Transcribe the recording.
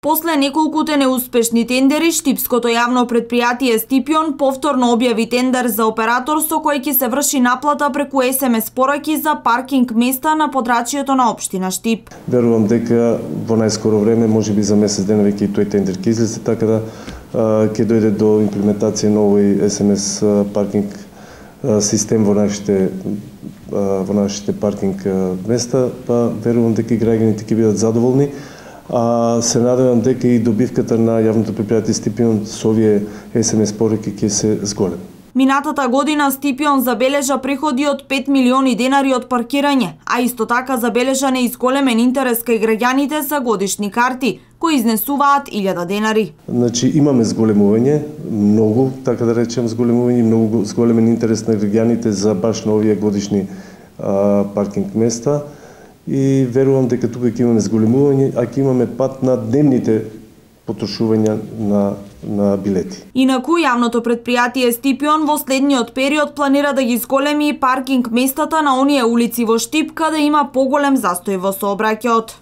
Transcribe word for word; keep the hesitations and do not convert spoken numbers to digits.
После неколкуте неуспешни тендери, штипското јавно предпријатие Стипион повторно објави тендер за оператор со кој ќе се врши наплата преку ес ем ес пораки за паркинг места на подрачјето на општина Штип. Верувам дека во најскоро време, можеби за месец дена веќе и тој тендер ќе излезе, така да ќе дојде до имплементација на овој ес ем ес паркинг систем во нашите во нашите паркинг места, па верувам дека граѓаните ќе бидат задоволни. А се надевам дека и добивката на јавното предпријатие Стипион со овие ес ем ес пораки ќе се зголеми. Минатата година Стипион забележа приходи од пет милиони денари од паркирање, а исто така забележа неизголемен интерес кај граѓаните за годишни карти, кои изнесуваат илјада денари. Значи имаме зголемување, многу, така да речем, зголемување, многу зголемен интерес на граѓаните за баш на овие годишни а, паркинг места. И верувам дека тука ќе имаме зголемување, а ќе имаме пат на дневните потрошувања на, на билети. Инаку, јавното предпријатие Стипион во следниот период планира да ги зголеми паркинг местата на оние улици во Штип каде има поголем застој во сообраќајот.